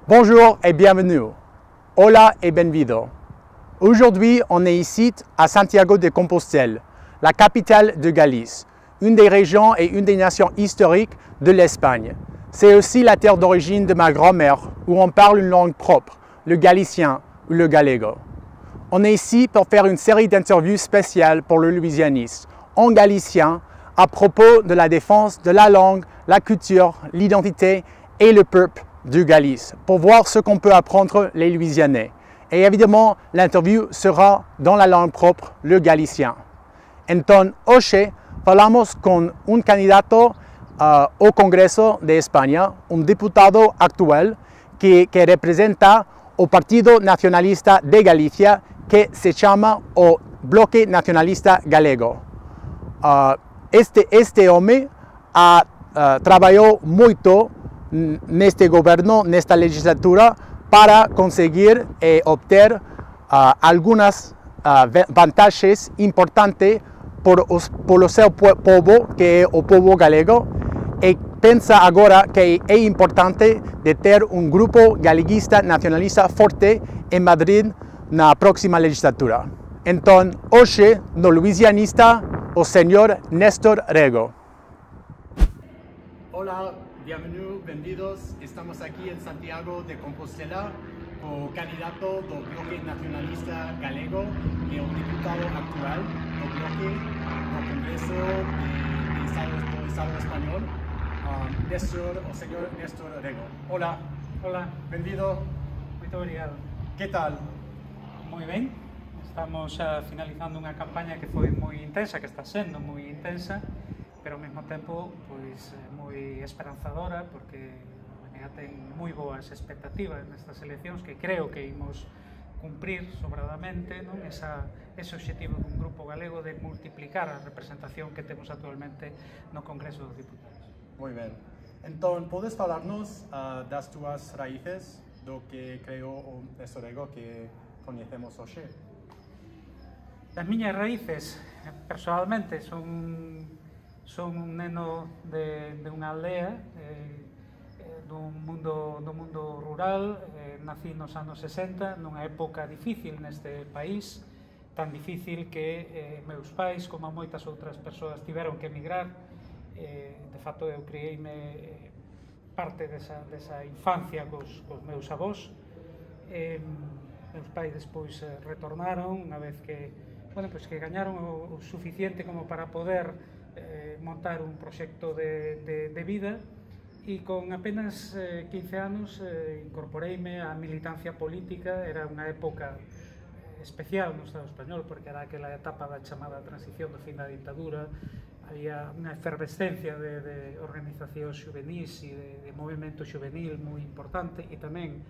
Bonjour et bienvenue. Hola et bienvenido. Aujourd'hui, on est ici à Santiago de Compostelle, la capitale de Galice, une des régions et une des nations historiques de l'Espagne. C'est aussi la terre d'origine de ma grand-mère, où on parle une langue propre, le galicien ou le gallego. On est ici pour faire une série d'interviews spéciales pour le louisianisme, en galicien, à propos de la défense de la langue, la culture, l'identité et le peuple du Galice, pour voir ce qu'on peut apprendre les Louisianais. Et évidemment, l'interview sera dans la langue propre, le galicien. Entonces, hoy falamos con un candidato au Congreso de España, un diputado actual que representa el Partido Nacionalista de Galicia, que se llama o Bloque Nacionalista Galego. Este hombre ha trabajado mucho neste governo, nesta legislatura, para conseguir obter algunas vantagens importantes por o seu povo, que é o povo galego, e pensa agora que é importante de ter um grupo galeguista nacionalista forte em Madrid na próxima legislatura. Então, hoje, no Louisianista, o senhor Néstor Rego. Hola, bienvenidos. Estamos aquí en Santiago de Compostela con el candidato del Bloque Nacionalista Galego y un diputado actual del Bloque no Congreso del Estado Español, o señor Néstor Rego. Hola. Hola. Bienvenido. Muito obrigado. ¿Qué tal? Moi ben. Estamos finalizando unha campaña que foi moi intensa, que está sendo moi intensa, pero ao mesmo tempo pois moi esperanzadora, porque ten moi boas expectativas nestas eleccións que creo que imos cumprir sobradamente, non? Ese objetivo dun grupo galego de multiplicar a representación que temos actualmente no Congreso dos Diputados. Moi ben. Entón, podes falarnos das túas raíces, do que creou o Néstor Rego que coñecemos hoxe? As miñas raíces, personalmente, son un neno de unha aldea, do mundo rural. Nací nos anos 60, nunha época difícil neste país, tan difícil que meus pais, como moitas outras persoas, tiveron que emigrar. De facto, eu criei-me parte desa infancia cos meus avós. Meus pais despois retornaron, unha vez que gañaron o suficiente como para poder montar un proxecto de vida, e con apenas 15 anos incorporeime á militancia política. Era unha época especial no Estado español, porque era aquela etapa da chamada transición do fin da ditadura. Había unha efervescencia de organizacións xuvenís e de movimento xuvenil moi importante, e tamén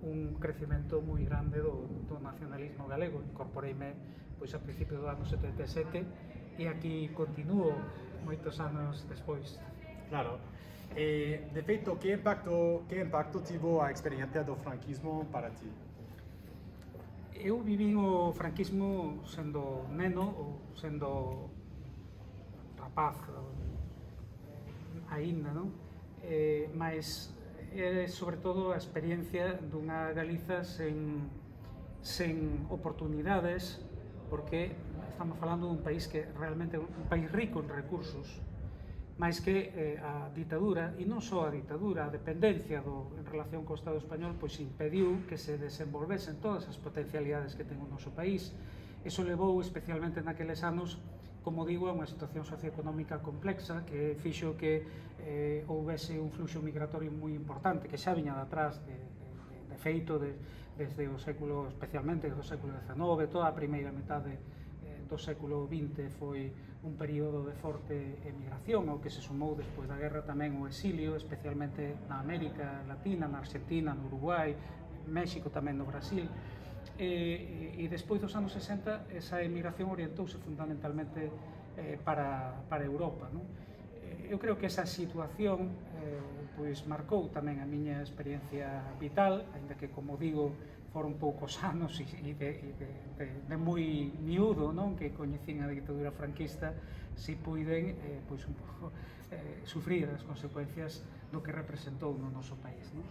un crecimento moi grande do nacionalismo galego. Incorporeime pois a principios do ano 77 e aquí continuo moitos anos despois. Claro. De feito, que impacto tivo a experiencia do franquismo para ti? Eu vivín o franquismo sendo neno ou sendo rapaz aínda, non? Mas é sobre todo a experiencia dunha Galiza sen oportunidades, porque estamos falando dun país que realmente é un país rico en recursos, máis que a ditadura, e non só a ditadura, a dependencia en relación co Estado español, pois impediu que se desenvolvesen todas as potencialidades que ten o noso país. Iso levou especialmente naqueles anos, como digo, a unha situación socioeconómica complexa que fixo que houvese un fluxo migratorio moi importante, que xa viña de atrás, de feito, desde o século, especialmente do século XIX. Toda a primeira metade do século XX foi un período de forte emigración, ao que se sumou despois da guerra tamén o exilio, especialmente na América Latina, na Argentina, no Uruguai, México, tamén no Brasil. E despois dos anos 60 esa emigración orientouse fundamentalmente para Europa, non? Eu creo que esa situación pois marcou tamén a miña experiencia vital, aínda que, como digo, foron poucos anos e de moi miúdo, non, que coñecín a ditadura franquista, si puiden pois un pouco sufrir as consecuencias do que representou no noso país, non?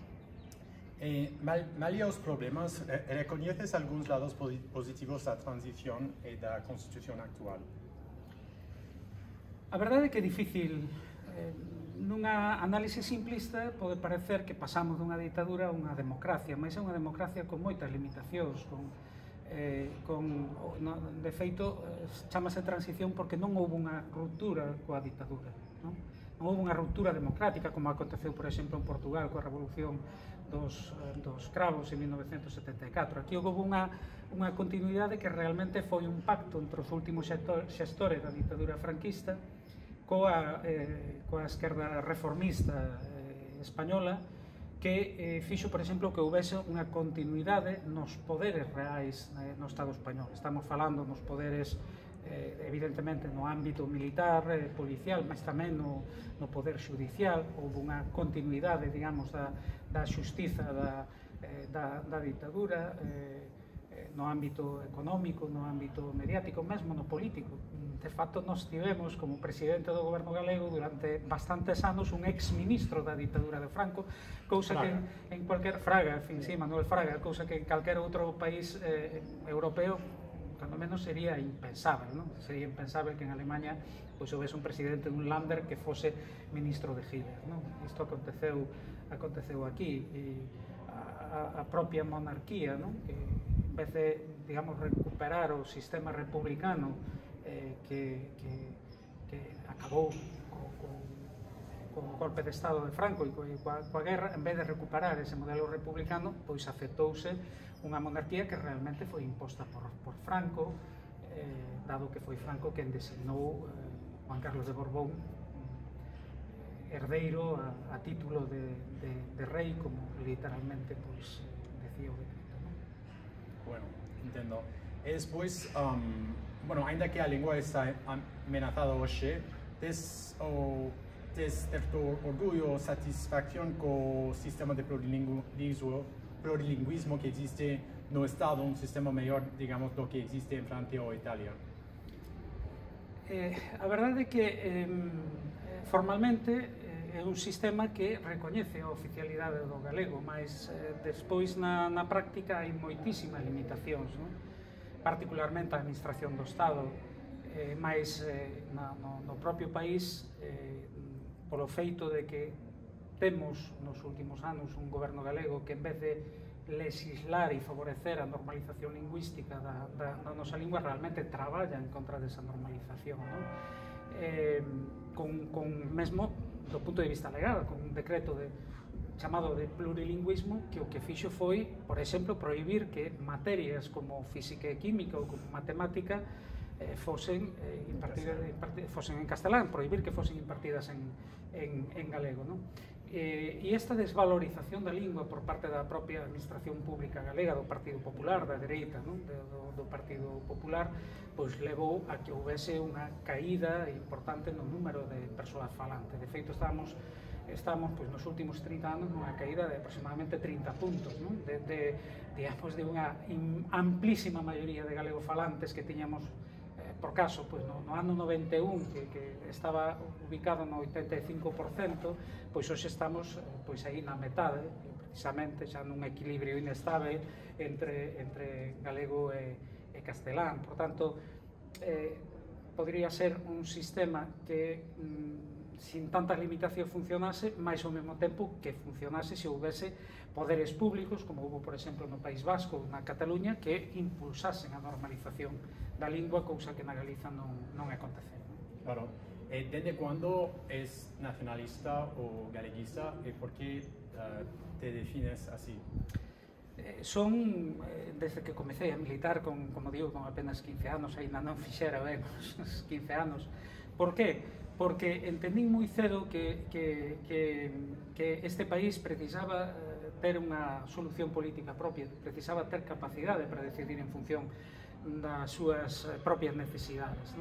Malia os problemas, recoñeces algúns lados positivos da transición e da Constitución actual? A verdade é que é difícil. Nunha análise simplista pode parecer que pasamos dunha ditadura a unha democracia, mas é unha democracia con moitas limitacións, de feito chamase transición porque non houve unha ruptura coa ditadura, non houve unha ruptura democrática como aconteceu, por exemplo, en Portugal coa revolución dos cravos en 1974. Aquí houve unha continuidade que realmente foi un pacto entre os últimos xestores da ditadura franquista coa esquerda reformista española, que fixo, por exemplo, que houvese unha continuidade nos poderes reais no Estado español. Estamos falando nos poderes, evidentemente, no ámbito militar, policial, mas tamén no poder judicial. Houve unha continuidade, digamos, da xustiza da ditadura, no ámbito económico, no ámbito mediático, mesmo no político. De facto, nós tivemos como presidente do goberno galego durante bastantes anos un ex-ministro da ditadura de Franco, cousa que en cualquier Fraga, en fin, sí, Manuel Fraga, cousa que en calquer outro país europeo cando menos sería impensable, non? Sería impensable que en Alemanha pois houvese un presidente dun Länder que fose ministro de Hitler, non? Isto aconteceu aquí, e a propia monarquía, non? Que en vez de, digamos, recuperar o sistema republicano que acabou co golpe de Estado de Franco e coa guerra, en vez de recuperar ese modelo republicano, pois aceptouse unha monarquía que realmente foi imposta por Franco, dado que foi Franco quen designou Juan Carlos de Borbón herdeiro a título de rei, como literalmente pois decía o decreto, non? Bueno, entendo. E despois, ainda que a lingua está amenazada hoxe, tes certo orgullo ou satisfacción co sistema de plurilingüismo que existe no Estado, un sistema mellor, digamos, do que existe en Francia ou Italia? A verdade é que formalmente é un sistema que recoñece a oficialidade do galego, mas despois na práctica hai moitísimas limitacións, non? Particularmente a administración do Estado, mas no propio país, polo feito de que temos nos últimos anos un goberno galego que en vez de legislar e favorecer a normalización lingüística da nosa lingua, realmente traballa en contra desa normalización, non? Con mesmo do punto de vista legal, con un decreto chamado de plurilingüismo, que o que fixo foi, por exemplo, prohibir que materias como física e química ou como matemática fosen en castelán, prohibir que fosen impartidas en galego, non? E esta desvalorización da lingua por parte da propia administración pública galega, do Partido Popular, da dereita, non? Do Partido Popular, pois levou a que houvese unha caída importante no número de persoas falantes. De feito, estamos pois, nos últimos 30 anos nunha caída de aproximadamente 30 puntos, non? Digamos, de unha amplísima maioría de galegofalantes que tiñamos, por caso, pois, no ano 91, que estaba ubicado no 85%, pois hoxe estamos pois, aí na metade, precisamente xa nun equilibrio inestable entre galego e castelán. Por tanto, podría ser un sistema que sin tantas limitacións funcionase, mais ao mesmo tempo que funcionase se houvese poderes públicos, como houve, por exemplo, no País Vasco, na Cataluña, que impulsasen a normalización da lingua, cousa que na Galiza non aconteceu. Claro. Desde cando es nacionalista ou galeguista e por que te defines así? Son, desde que comecei a militar, como digo, con apenas 15 anos, ainda non fixera ben os 15 anos. Por que? Porque entendín moi cedo que este país precisaba ter unha solución política propia, precisaba ter capacidade para decidir en función das súas propias necesidades,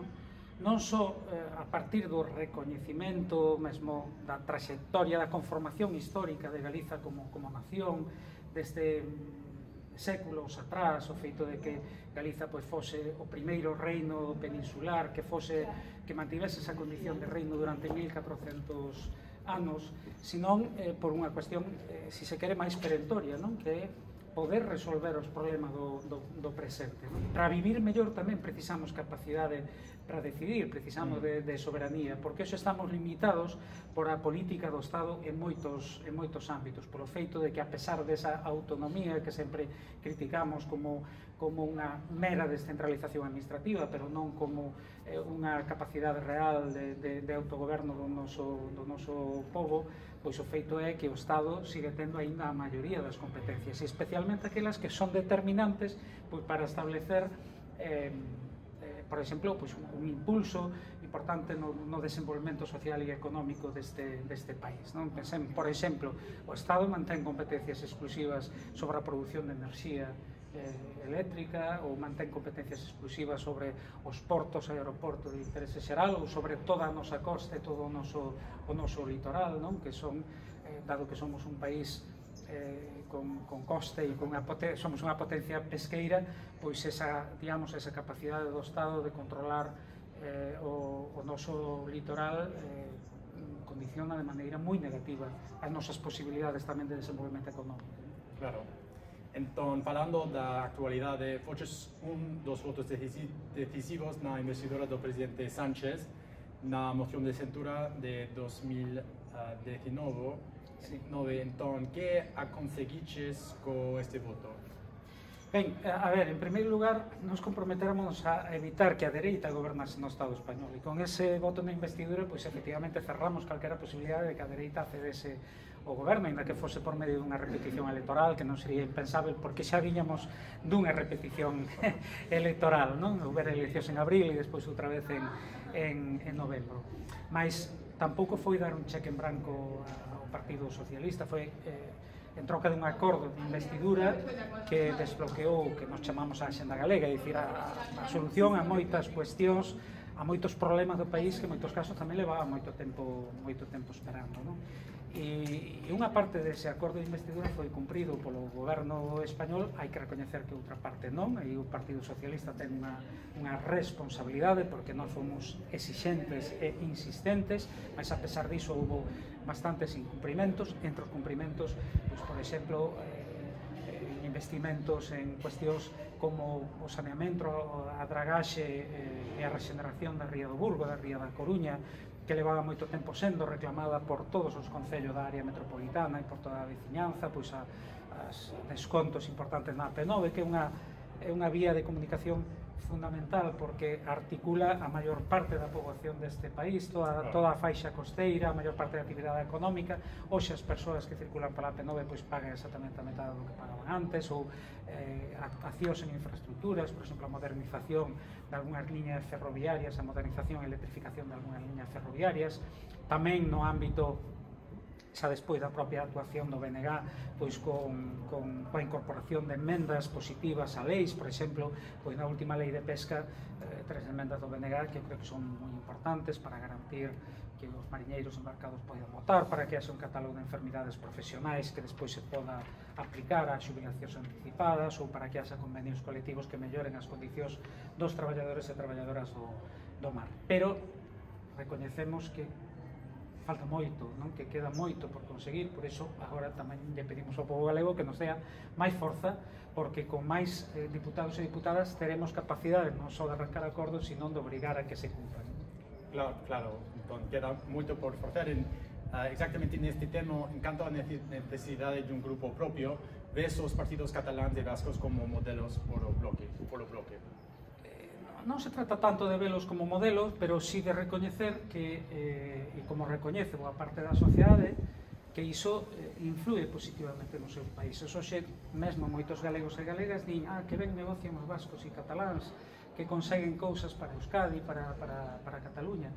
non só a partir do recoñecimento mesmo da traxectoria, da conformación histórica de Galiza como nación, desde séculos atrás, o feito de que Galiza pois fose o primeiro reino peninsular, que mantivese esa condición de reino durante 1400 anos, senón por unha cuestión, se se quere, máis perentoria, non? Que é poder resolver os problemas do presente. Para vivir mellor tamén precisamos capacidade para decidir, precisamos de soberanía, porque eso estamos limitados por a política do Estado en moitos ámbitos, polo feito de que, a pesar desa autonomía que sempre criticamos como unha mera descentralización administrativa, pero non como unha capacidade real de autogoberno do noso povo, pois o feito é que o Estado sigue tendo aínda a maioría das competencias, e especialmente aquelas que son determinantes pois para establecer por exemplo, pois, un impulso importante no desenvolvemento social e económico deste país, non? Pensemos, por exemplo, o Estado mantén competencias exclusivas sobre a produción de enerxía eléctrica, ou mantén competencias exclusivas sobre os portos e aeroportos de interese xeral, ou sobre toda a nosa costa e todo o noso litoral, non? Que son, dado que somos un país con coste e somos unha potencia pesqueira, pois esa capacidade do Estado de controlar o noso litoral condiciona de maneira moi negativa as nosas posibilidades tamén de desenvolvemento económico. Claro. Entón, falando da actualidade, foches dos votos decisivos na investidura do presidente Sánchez na moción de censura de 2019. Sí. Entón, que conseguiches co este voto? Ben, a ver, en primeiro lugar, nos comprometéramos a evitar que a dereita gobernase no Estado español, e con ese voto na investidura, pois efectivamente cerramos calquera posibilidade de que a dereita accedese ao goberno, ainda que fose por medio dunha repetición electoral, que non sería impensável, porque xa viñamos dunha repetición electoral, non? Houbera eleccións en abril e despois outra vez en novembro. Mas tampouco foi dar un cheque en branco ao Partido Socialista, foi en troca dun acordo de investidura que desbloqueou o que nos chamamos a Axenda Galega, é dicir, a solución a moitas cuestións, a moitos problemas do país que en moitos casos tamén levaba moito tempo esperando, non? E unha parte dese acordo de investidura foi cumprido polo goberno español, hai que recoñecer que outra parte non, e o Partido Socialista ten unha responsabilidade porque nós fomos exixentes e insistentes, mas a pesar diso houve bastantes incumprimentos, entre os cumprimentos, pois, por exemplo, investimentos en cuestións como o saneamento, a dragaxe e a regeneración da ría do Burgo, da ría da Coruña, que levaba moito tempo sendo reclamada por todos os concellos da área metropolitana e por toda a veciñanza, pois as descontos importantes na AP9, que é unha vía de comunicación fundamental porque articula a maior parte da poboación deste país, toda a faixa costeira, a maior parte da actividade económica. Hoxe as persoas que circulan pola AP9 pois pagan exactamente a metade do que pagaban antes, ou actuacións en infraestructuras, por exemplo, a modernización de algunhas liñas ferroviarias, a modernización e electrificación de algunhas liñas ferroviarias, tamén no ámbito xa despois da propia actuación do BNG, pois coa incorporación de emendas positivas a leis, por exemplo, pois na última lei de pesca, 3 emendas do BNG que eu creo que son moi importantes para garantir que os mariñeiros embarcados poden votar, para que haxa un catálogo de enfermidades profesionais que despois se poda aplicar a xubilacións anticipadas, ou para que haxa convenios colectivos que melloren as condicións dos traballadores e traballadoras do mar. Pero recoñecemos que falta moito, non? Que queda moito por conseguir, por iso agora tamén lle pedimos ao pobo galego que nos dea máis forza, porque con máis diputados e diputadas teremos capacidade non só de arrancar acordos, sino de obrigar a que se cumplan. Claro, entón queda moito por facer. Exactamente neste tema, en canto a necesidade de un grupo propio, ves os partidos cataláns e vascos como modelos polo bloque. Non se trata tanto de velos como modelos, pero sí de recoñecer que, e como recoñece boa parte da sociedade, que iso influe positivamente nos seus países. Hoxe, mesmo moitos galegos e galegas din que ben negocian os vascos e cataláns, que conseguen cousas para Euskadi, para Cataluña.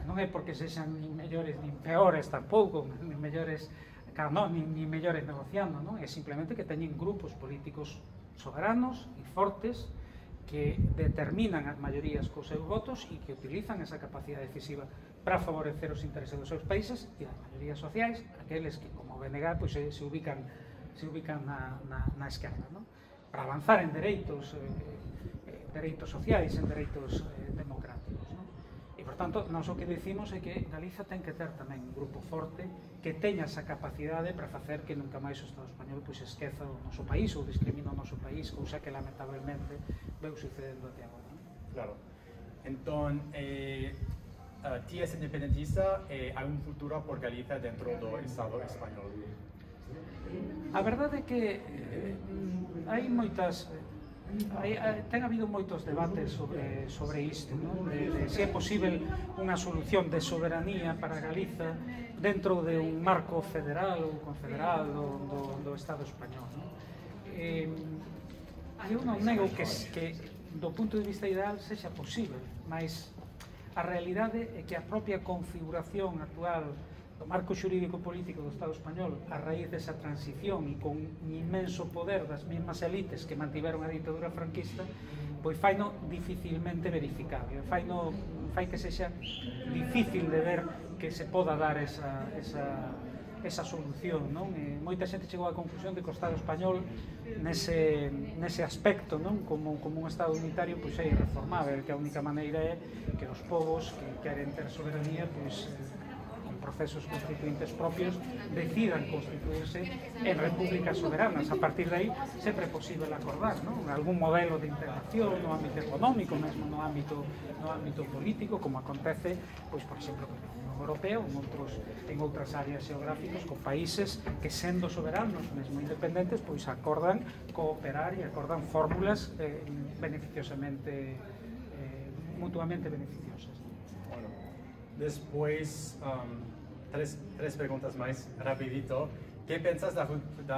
Non é porque sexan nin mellores nin peores tampouco, nin mellores negociando, non? É simplemente que teñen grupos políticos soberanos e fortes que determinan as maiorías cos seus votos e que utilizan esa capacidade decisiva para favorecer os intereses dos seus países e das maiorías sociais, aqueles que, como BNG, pois, se ubican na esquerda, non? Para avanzar en dereitos sociais, en dereitos democráticos, non? E, por tanto, nós o que decimos é que Galiza ten que ter tamén un grupo forte que teña esa capacidade para facer que nunca máis o Estado español pois esqueza o noso país ou discrimina o noso país, cousa que lamentablemente veu sucedendo até agora. Claro. Entón, ti és independentista e hai un futuro por Galiza dentro do Estado español? A verdade é que hai moitas... ten habido moitos debates sobre isto, de se é posible unha solución de soberanía para Galiza dentro de un marco federal ou confederal do Estado español. Eu non nego que do punto de vista ideal sexa posible, mas a realidade é que a propia configuración actual do marco xurídico-político do Estado español a raíz desa transición e con un inmenso poder das mesmas elites que mantiveron a ditadura franquista, pois faino dificilmente verificable, fai que sexa difícil de ver que se poda dar esa solución, non? Moita xente chegou á conclusión de que o Estado español nese aspecto, non? Como un Estado unitario, pois é irreformável, que a única maneira é que os povos que queren ter soberanía, pois procesos constituintes propios decidan constituirse en repúblicas soberanas. A partir de aí sempre é posible acordar, non? Algún modelo de integración no ámbito económico, mesmo no ámbito político, como acontece, pois, por exemplo, na Unión Europea ou en outras áreas xeográficas con países que, sendo soberanos, mesmo independentes, pois acordan cooperar e acordan fórmulas beneficiosamente mutuamente beneficiosas. Bueno, despois tres preguntas máis rapidito. Que pensas da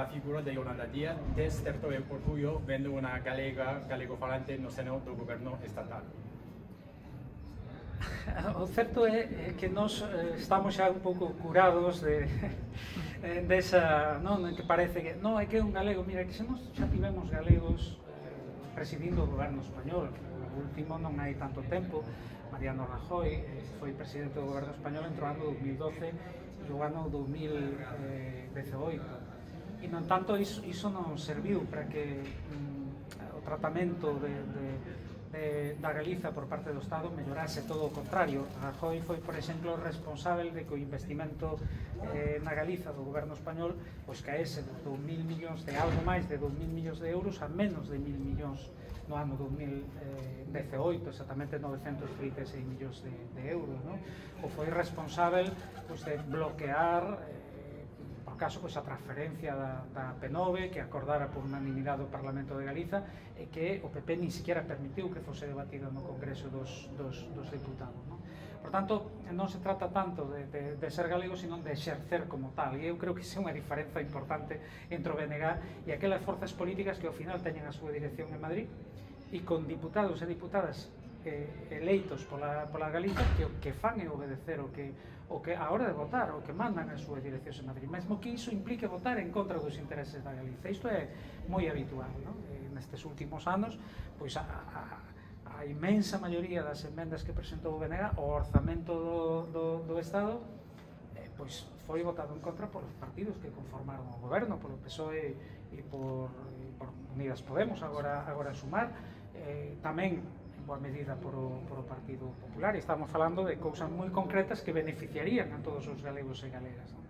figura de Yolanda Díaz? Tes certo orgullo vendo unha galego falante no seno do goberno estatal? O certo é que nós estamos xa un pouco curados desa, non, que parece que non, é que é un galego, mira, que se nós xa tivemos galegos presidindo o goberno español, o último non hai tanto tempo. Mariano Rajoy foi presidente do goberno español entre o ano 2012 e o ano 2018, e non tanto iso non serviu para que o tratamento da Galiza por parte do Estado mellorase, todo o contrario. Rajoy foi, por exemplo, responsable de que o investimento na Galiza do goberno español pois caese de 2.000 millóns, de algo máis de 2.000 millóns de euros a menos de 1.000 millóns no ano 2018, exactamente 936 millóns de euros, non? Ou foi responsable pois, de bloquear por caso pois, a transferencia da P9 que acordara por unanimidade do Parlamento de Galiza e que o PP ni siquiera permitiu que fose debatido no Congreso dos Deputados, non? Por tanto, non se trata tanto de ser galego, sino de exercer como tal, e eu creo que iso é unha diferenza importante entre o BNG e aquelas forzas políticas que ao final teñen a súa dirección en Madrid e con diputados e diputadas eleitos pola Galiza que fan e obedecer o que a hora de votar, o que mandan as súas direccións en Madrid, mesmo que iso implique votar en contra dos intereses da Galiza. Isto é moi habitual, non? Nestes últimos anos, pois a imensa maioría das enmendas que presentou o BNG, o orzamento do Estado, pois foi votado en contra polos partidos que conformaron o goberno, polo PSOE e por Unidas Podemos, agora Sumar, tamén en boa medida por o Partido Popular, e estamos falando de cousas moi concretas que beneficiarían a todos os galegos e galegas, non?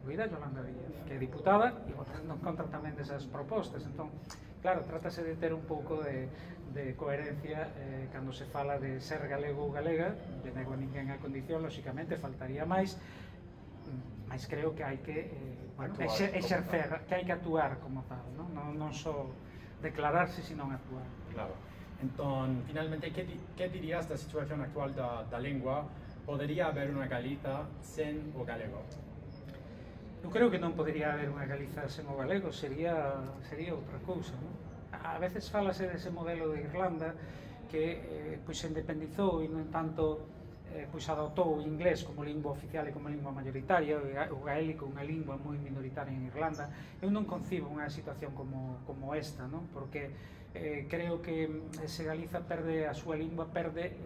Incluída Yolanda Díaz, que é diputada e votando en contra tamén desas propostas. Entón, claro, trátase de ter un pouco de coherencia cando se fala de ser galego ou galega, de nego ninguén a condición, lóxicamente faltaría máis, mas creo que hai que exercer, que hai que actuar como tal, non só declararse, sino actuar. Claro. Entón, finalmente, que dirías da situación actual da lengua? Podería haber unha Galiza sen o galego? Eu creo que non podería haber unha Galiza sen o galego, sería outra cousa, non? A veces falase dese modelo de Irlanda que pois se independizou e, no entanto, pois adoptou o inglés como lingua oficial e como lingua mayoritaria, o gaélico unha lingua moi minoritaria en Irlanda. Eu non concibo unha situación como esta, non? Porque creo que se Galiza perde a súa lingua, perde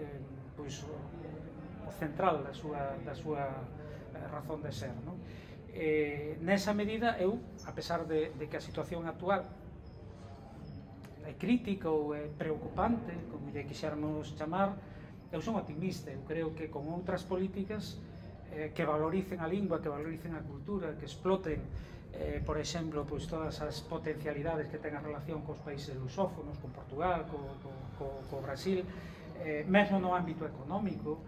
pois, o central da súa razón de ser, non? Nesa medida, eu, a pesar de que a situación actual é crítica ou é preocupante, como lle quixéramos chamar, Eu son optimista, eu creo que con outras políticas que valoricen a lingua, que valoricen a cultura, que exploten, por exemplo, pois, todas as potencialidades que ten a relación cos países lusófonos, con Portugal, co Brasil, mesmo no ámbito económico,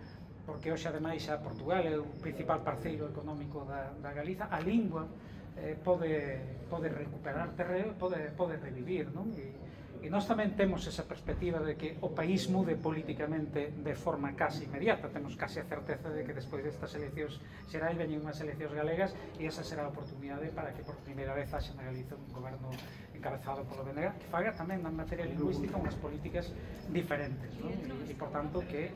porque hoxe ademais a Portugal é o principal parceiro económico da Galiza, a lingua pode recuperar terreo, pode revivir, non? E nós tamén temos esa perspectiva de que o país mude políticamente de forma casi inmediata. Temos casi a certeza de que despois destas eleccións xerais veñen unhas eleccións galegas e esa será a oportunidade para que por primeira vez haxa na Galiza un goberno encabezado polo BNG que faga tamén na materia lingüística unhas políticas diferentes, non? E por tanto que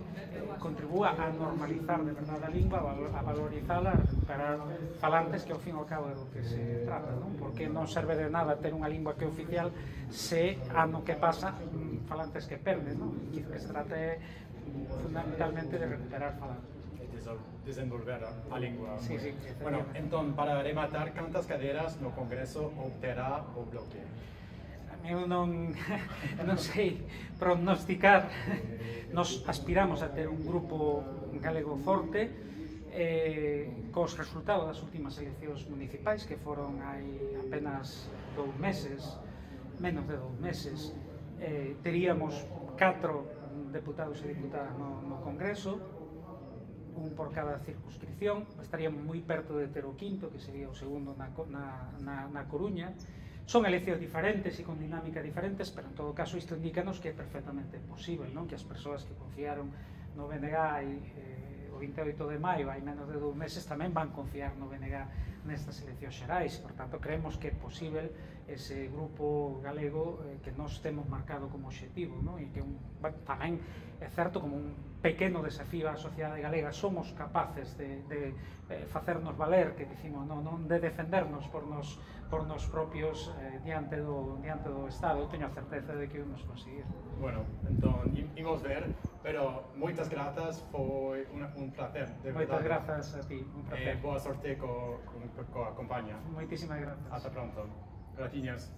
contribúa a normalizar de verdade a lingua, a valorizala, a recuperar falantes que ao fin e ao cabo é do que se trata, non? Porque non serve de nada ter unha lingua que é oficial se ano que pasa falantes que perden, non? Que se trata fundamentalmente de recuperar falantes. Desenvolver a lingua. Sí, sí, bueno, entón, para rematar, cantas cadeiras no Congreso obterá o Bloque? Eu non sei prognosticar. Nos aspiramos a ter un grupo galego forte cos resultados das últimas eleccións municipais que foron hai apenas 2 meses, menos de 2 meses. Teríamos 4 deputados e diputadas no Congreso, un por cada circunscripción, estaríamos moi perto de ter o quinto, que sería o segundo na Coruña. Son eleccións diferentes e con dinámicas diferentes, pero en todo caso isto indícanos que é perfectamente posible, non? Que as persoas que confiaron no BNG o 28 de maio, hai menos de 2 meses, tamén van confiar no BNG nestas eleccións xerais. Por tanto, creemos que é posible ese grupo galego que nos temos marcado como obxectivo, non? E que tamén é certo como un pequeno desafío á sociedade galega. Somos capaces de facernos valer, que dicimos, non de defendernos por nos propios diante do Estado. Eu teño a certeza de que o imos conseguir. Bueno, entón, imos ver, pero moitas grazas, foi un placer, de verdade. Moitas grazas a ti, un placer. Boa sorte coa compañía. Moitísimas grazas. Ata pronto. Gratiñas.